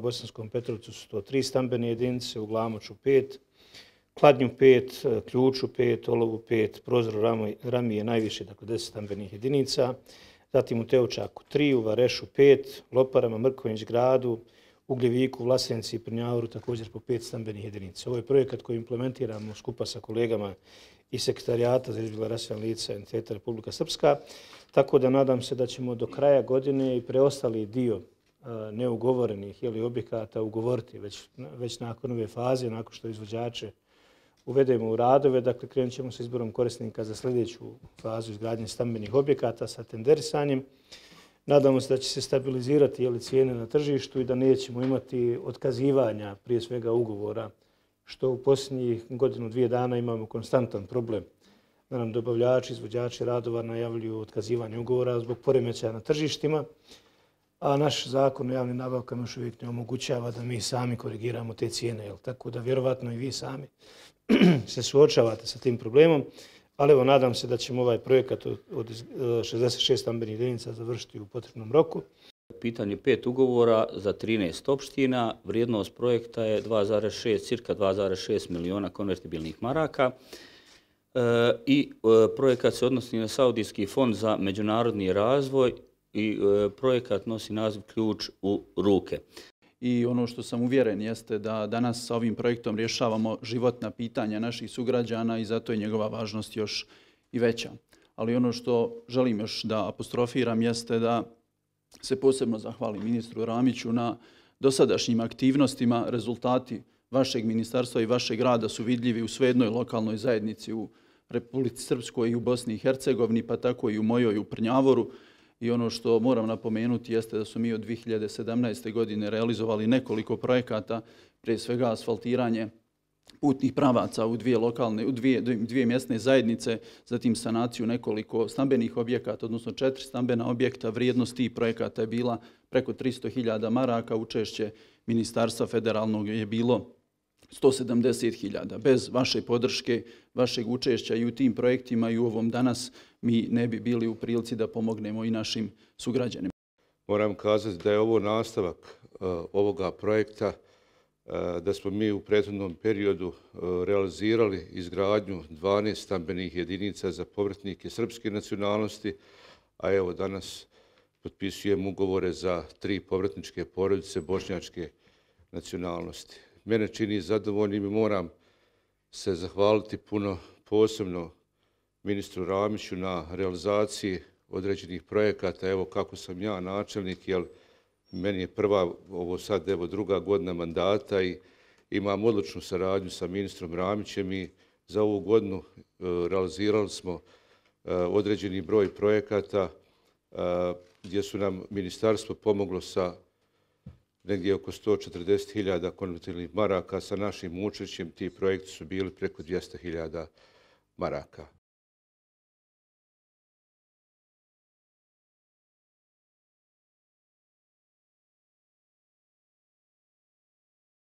Bosanskom Petrovcu su to 3 stambene jedinice, u Glamoču 5, Kladnju 5, Ključu 5, Olovu 5, Prozoru Rami je najviše, dakle 10 stambenih jedinica, zatim u Teučaku 3, u Varešu 5, Loparama, Mrkonjić Gradu, Ugljeviku, Vlasenci i Prnjavoru također po 5 stambenih jedinica. Ovo je projekat koji implementiramo skupa sa kolegama iz Sekretarijata za izbjegla raseljena lica entiteta Republika Srpska, tako da nadam se da ćemo do kraja godine i preostali dio neugovorenih objekata ugovoriti već nakon ove faze, nakon što izvođače uvedemo u radove. Dakle, krenut ćemo sa izborom korisnika za sljedeću fazu izgradnje stambenih objekata sa tenderisanjem. Nadamo se da će se stabilizirati cijene na tržištu i da nećemo imati otkazivanja, prije svega ugovora, što u posljednjih godinu, 2 dana imamo konstantan problem. Da nam dobavljači, izvođači radova najavljuju otkazivanje ugovora zbog poremećaja na tržištima, a naš zakon o javnim nabavkama još uvijek ne omogućava da mi sami korigiramo te cijene. Tako da vjerovatno i vi sami se suočavate sa tim problemom. Ali evo, nadam se da ćemo ovaj projekat od 66 stambenih jedinica završiti u potrebnom roku. Pitanje 5 ugovora za 13 opština. Vrijednost projekta je cirka 2,6 miliona konvertibilnih maraka. I projekat se odnosi na Saudijski fond za međunarodni razvoj i projekat nosi naziv Ključ u ruke. I ono što sam uvjeren jeste da danas sa ovim projektom rješavamo životna pitanja naših sugrađana i zato je njegova važnost još i veća. Ali ono što želim još da apostrofiram jeste da se posebno zahvalim ministru Ramiću na dosadašnjim aktivnostima. Rezultati vašeg ministarstva i vašeg rada su vidljivi u svejednoj lokalnoj zajednici u Republici Srpskoj i u Bosni i Hercegovini, pa tako i u mojoj u Prnjavoru. I ono što moram napomenuti jeste da su mi od 2017. godine realizovali nekoliko projekata, prije svega asfaltiranje putnih pravaca u dvije mjesne zajednice, zatim sanaciju nekoliko stambenih objekata, odnosno 4 stambena objekta. Vrijednost tih projekata je bila preko 300.000 maraka, učešće Ministarstva federalnog je bilo 170.000. Bez vaše podrške, vašeg učešća i u tim projektima i u ovom danas mi ne bi bili u prilici da pomognemo i našim sugrađanima. Moram kazati da je ovo nastavak ovoga projekta, da smo mi u prethodnom periodu realizirali izgradnju 12 stambenih jedinica za povratnike srpske nacionalnosti, a evo danas potpisujemo ugovore za 3 povratničke porodice bošnjačke nacionalnosti. Mene čini zadovoljnim i moram se zahvaliti puno posebno ministru Ramiću na realizaciji određenih projekata. Evo kako sam ja načelnik, jer meni je prva, ovo sad evo 2. godina mandata i imam odličnu saradnju sa ministrom Ramićem i za ovu godinu realizirali smo određeni broj projekata gdje su nam ministarstvo pomoglo sa negdje oko 140.000 konvertibilnih maraka. Sa našim učešćem ti projekti su bili preko 200.000 maraka.